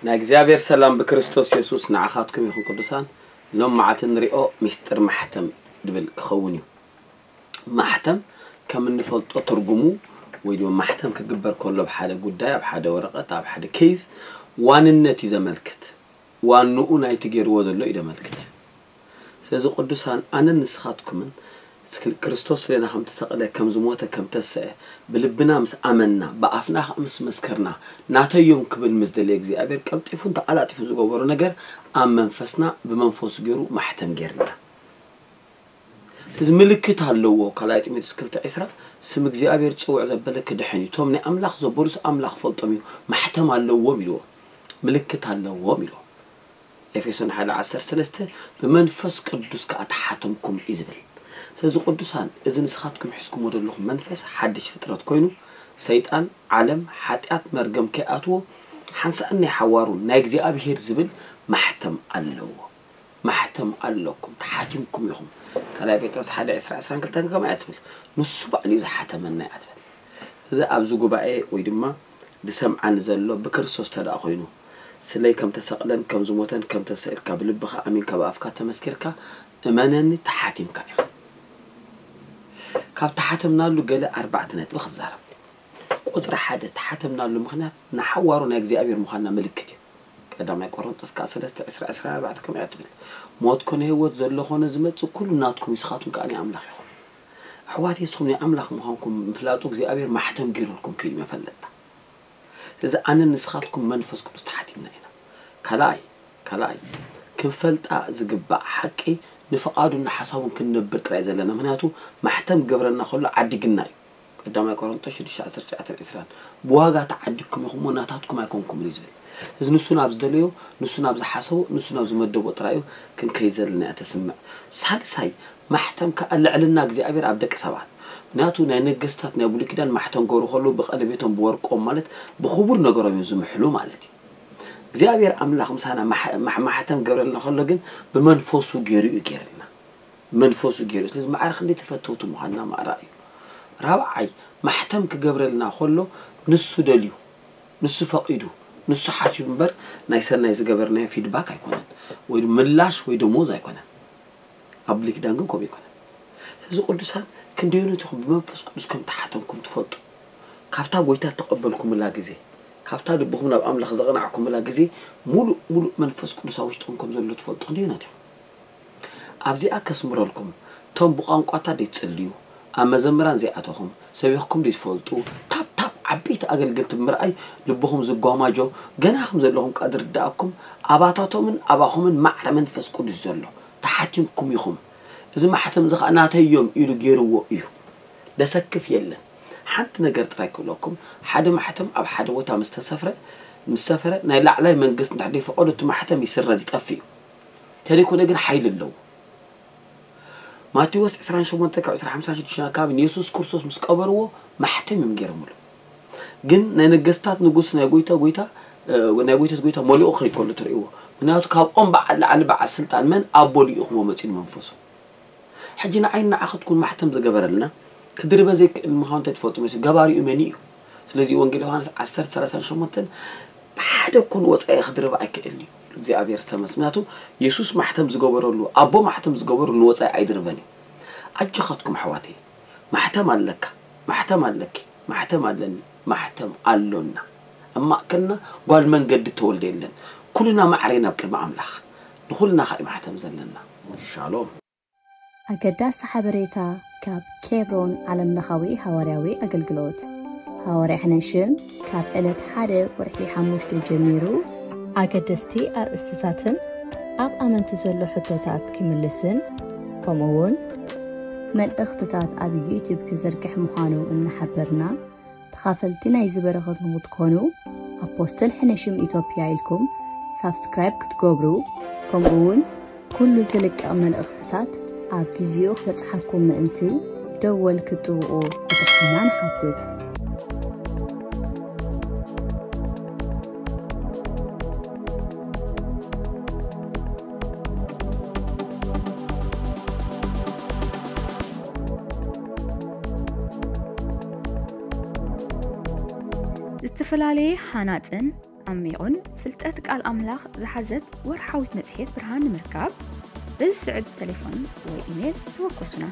ናይ እግዚኣብሔር ሰላም ብክርስቶስ የሱስ ንዓኻትኩም ይኹን ቅዱሳን። ሎም መዓልቲ ንሪኦ ሚስጥር ማሕተም ድብል ክኸውን እዩ። ማሕተም ከም እንፈልጦ ትርጉሙ ወይ ድማ ማሕተም ክግበር ከሎ ኣብ ሓደ ጉዳይ፣ ኣብ ሓደ ወረቐት፣ ኣብ ሓደ ኬዝ ዋንነት እዩ ዘመልክት። ዋንኡ ናይቲ ገይርዎ ዘሎ እዩ ዘመልክት። ስለዚ ቅዱሳን ኣነን ንስኻትኩምን ክርስቶስ ስሌና ከም ተሰቕለ፣ ከም ዝሞተ፣ ከም ተሰአ ብልብና ምስ ኣመንና፣ ብኣፍና ከዓ ምስ መስከርና፣ ናተዮም ክብል ምስ ደለየ እግዚኣብሔር ቀልጢፉን ተቐላጢፉ ዝገበሮ ነገር ኣብ መንፈስና ብመንፈሱ ገይሩ ማሕተም ገይርና። እዚ ምልክት ኣለዎ። ካልኣይ ጢሞቴዎስ ክልተ ዕስራ ስም እግዚኣብሔር ጽውዕ ዘበለ ክድሕን እዩ። እቶም ናይ ኣምላኽ ዘበሉስ ኣምላኽ ፈልጦም እዩ፣ ማሕተም ኣለዎም ኢልዎ፣ ምልክት ኣለዎም ኢልዎ። ኤፌሶን ሓደ ዓሰርተ ሰለስተ ብመንፈስ ቅዱስ ከኣ ተሓተምኩም እዩ ዝብል። ስለዚ ቅዱሳን፣ እዚ ንስኻትኩም ሒዝኩሞ ዘለኹም መንፈስ ሓድሽ ፍጥረት ኮይኑ፣ ሰይጣን፣ ዓለም፣ ሓጢኣት፣ መርገም ከይኣትዎ ሓንሳእን ናይ ሓዋሩን ናይ እግዚኣብሔር ዝብል ማሕተም ኣለዎ። ማሕተም ኣለኩም፣ ተሓቲምኩም ኢኹም። ካልኣይ ጴጥሮስ ሓደ ዕስራ ዕስራን ክልተን ከመይ እያ ትብል? ንሱ ባዕሉ እዩ ዝሓተመና እያ ትብል። እዚ ኣብዚ ጉባኤ ወይ ድማ ዝሰምዓኒ ዘሎ ብክርስቶስ ተደኣ ኮይኑ፣ ስለይ ከም ተሰቕለን ከም ዝሞተን ከም ተሰኢልካ ብልብኻ ኣሚንካ ብኣፍካ ተመስኪርካ እመነኒ ተሓቲምካ ኢኻ። ካብ ተሓተምናሉ ገለ ኣርባዕተ ነጥቢ ክዛረብ። ቁጽሪ ሓደ ተሓተምናሉ ምኽንያት ንሓዋሩ ናይ እግዚኣብሔር ምዃንና ምልክት እዩ። ቀዳማይ ቆሮንጦስ ከዓ ሰለስተ ዕስራ ዕስራ ኣርባዕተ ከምኡ እያ ትብል። ሞት ኮነ ህይወት ዘሎ ኮነ ዝመጽእ ኩሉ ናትኩም እዩ፣ ንስኻትኩም ከዓ ናይ ኣምላኽ ኢኹም። ኣሕዋተይ ንስኹም ናይ ኣምላኽ ምዃንኩም ምፍላጡ እግዚኣብሔር ማሕተም ገይሩልኩም ከይዱ መፈለጥታ። ስለዚ ኣነን ንስኻትኩም መንፈስ ቅዱስ ተሓቲምና ኢና። ካልኣይ ካልኣይ ክንፈልጣ ዝግባእ ሓቂ ንፍቓዱን ንሓሳቡን ክንነብር ጥራይ ዘለና፣ ምኽንያቱ ማሕተም ገብረና ከሎ ዓዲግና እዩ። ቀዳማይ ቆሮንቶስ ሽዱሽተ ዓሰርተ ትሽዓተ ዕስራን ብዋጋ ተዓዲግኩም ኢኹም እሞ ናታትኩም ኣይኮንኩምን እዩ ዝብል። እዚ ንሱ ናብ ዝደለዮ፣ ንሱ ናብ ዝሓሰቦ፣ ንሱ ናብ ዝመደቦ ጥራይ እዩ ክንከይድ ዘለና እያ ተስምዕ። ሳልሳይ ማሕተም ከኣ ልዕልና እግዚኣብሔር ኣብ ደቂ ሰባት። ምክንያቱ ናይ ነገስታት ናይ ብሉይ ኪዳን ማሕተም ገብሩ ከለዉ ብቐለቤቶም ብወርቆም ማለት ብኽቡር ነገሮም እዮም ዝምሕሉ ማለት እዩ። እግዚኣብሔር ኣምላኽ ምሳና ማሕ- ማሕ- ማሕተም ገብረልና ከሎ ግን ብመንፈሱ ገይሩ እዩ ገይርልና። መንፈሱ ገይሩ። ስለዚ ማዕረ ክንደይ ተፈተውቲ ምዃንና ማእራ እዩ። ራብዓይ ማሕተም ክገብረልና ከሎ ንሱ ደልዩ፣ ንሱ ፈቒዱ፣ ንሱ ሓሲቡ እምበር ናይ ሰናይ ዝገበርናዮ ፊድባክ ኣይኮነን፣ ወይ ምላሽ ወይ ደሞዝ ኣይኮነን። ኣብ ብሉይ ኪዳን ግን ከምኡ ኣይኮነን። ስለዚ ቅዱሳን ክንደዮኖት ኢኹም ብመንፈስ ቅዱስ ከም ተሓተምኩም ትፈልጡ። ካብታ ጎይታ እተቐበልኩምላ ግዜ፣ ካብታ ልብኹም ናብ ኣምላኽ ዘቕናዕኩምላ ግዜ ሙሉእ ሙሉእ መንፈስ ቅዱስ ኣብ ውሽጥኹም ከም ዘሎ ትፈልጡ ክንደዮኖት ኢኹም። ኣብዚኣ ከስምረልኩም፣ እቶም ብቋንቋታት ዘይትጽልዩ፣ ኣብ መዘምራን ዘይኣተኹም፣ ሰቢኽኩም ዘይትፈልጡ፣ ታብ ታብ ዓበይቲ ኣገልገልቲ ብምርኣይ ልብኹም ዝጓማጆ፣ ገና ከም ዘለኹም ቃ ዝርድኣኩም፣ ኣባታቶምን ኣባኹምን ማዕረ መንፈስ ቅዱስ ዘሎ ተሓቲምኩም ኢኹም። እዚ ማሕተም እዚ ኸኣ ናተይ እዮም ኢሉ ገይርዎ እዩ። ለሰክፍ የለን። ሓንቲ ነገር ጥራይ ክብለኩም፣ ሓደ ማሕተም ኣብ ሓደ ቦታ ምስ ተሰፍረ፣ ምስ ሰፈረ፣ ናይ ላዕላይ መንግስቲ እንድሕር ደይፈቐዶ እቲ ማሕተም ይስረዝ፣ ይጠፍእ እዩ። ተደይኮነ ግን ሓይሊ ኣለዎ። ማቴዎስ ዕስራን ሸሞንተ ካብ ዕስራ ሓምሳን ሽዱሽተን ኣካባቢ ንየሱስ ክርስቶስ ምስ ቀበርዎ ማሕተም እዮም ገይሮምሉ። ግን ናይ ነገስታት ንጉስ፣ ናይ ጎይታ ጎይታ፣ እ፣ ናይ ጎይታት ጎይታ መሊኡ ክኸይድ ከሎ ትርእይዎ። ምክንያቱ ካብ ኦም በዓል ላዕሊ በዓል ስልጣን መን ኣቦ ልኢኽዎ መጺኡ ንመንፈሱ። ሕጂ ንዓይን ንዓኸትኩን ማሕተም ዝገበረልና ክድርበ ዘይክእል ምዃኑ እንታይ ትፈልጡ መሲሉ? ገባሪኡ መን እዩ? ስለዚ ወንጌል ዮሃንስ ዓሰርተ ሰላሳን ሸሞንተን ሓደ እኮ ንወጻኢ ክድርበ ኣይክእልን እዩ። እግዚኣብሔር ዝተመስገነ። ምክንያቱ የሱስ ማሕተም ዝገበረሉ፣ ኣቦ ማሕተም ዝገበረሉ ንወጻኢ ኣይድርበን እዩ። ኣጆኻትኩም ኣሕዋተይ፣ ማሕተም ኣለካ፣ ማሕተም ኣለኪ፣ ማሕተም ኣለኒ፣ ማሕተም ኣሎና። ኣብ ማእከልና ጓል መንገዲ ተወልደ የለን። ኩልና ማዕረ ኢና ኣብ ቅድሚ ኣምላኽ። ንኹልና ኸኣ እዩ ማሕተም ዘለና። ሻሎም። ኣገዳሲ ሓበሬታ ካብ ኬብሮን ዓለምለኻዊ ሃዋርያዊ ኣገልግሎት። ሃዋርያ ሕነሽም ካብ ዕለት ሓደ ወርሒ ሓሙሽተ ጀሚሩ ኣገደስቲ ኣርእስትታትን ኣብ ኣመንቲ ዘሎ ሕቶታት ክምልስን ከምኡ እውን መልእኽትታት ኣብ ዩቲዩብ ክዝርግሕ ምዃኑ እናሓበርና፣ ተኻፈልቲ ናይዚ በረኸት ንኽትኮኑ ኣፖስትል ሕነሽም ኢትዮጵያ ኢልኩም ሳብስክራይብ ክትገብሩ፣ ከምኡ እውን ኩሉ ዝልቀቕ መልእኽትታት ኣብ ግዚኡ ክበጽሓኩም ምእንቲ ደወል ክትጥውቑ ብትሕትና ንሓትት። ዝተፈላለየ ሃናጽን ዓሚቑን ፍልጠት ቃል ኣምላኽ ዝሓዘት ወርሓዊት መጽሔት ብርሃን ንምርካብ፣ በዚ ስዕብ ተሌፎን ወይ ኢሜል ተወከሱና።